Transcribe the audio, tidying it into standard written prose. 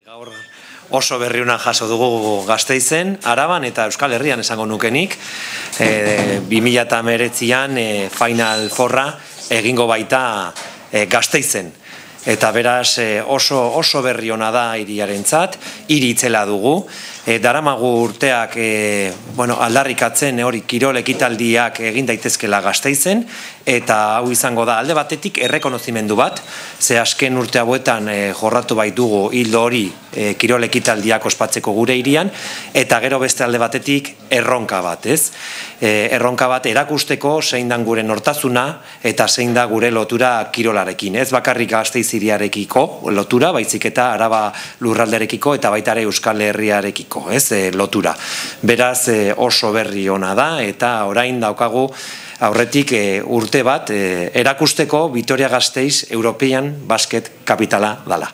Gaur oso berriuna jaso dugu Gasteizen, Araban eta Euskal Herrian esango nukenik. 2019an Final Fourra egingo baita Gasteizen. Eta beraz oso berri ona da hiriarentzat, hiri itzela dugu. Daramagu urteak aldarrikatzen hori kirol ekitaldiak egin daitezkela Gasteizen, eta hau izango da alde batetik errekonozimendu bat, ze azken urte hauetan jorratu baitugu hildo hori kirol ekitaldiak ospatzeko gure hirian, eta gero beste alde batetik erronka bat, ez? Erronka bat erakusteko zein da gure nortasuna eta zein da gure lotura kirolarekin, ez bakarrik Gasteiz hiriarekiko lotura, baizik eta Araba lurralderekiko eta baita ere Euskal Herriarekiko, ez, lotura. Beraz oso berri ona da eta orain daukagu aurretik urte bat erakusteko Vitoria-Gasteiz European Basket kapitala dala.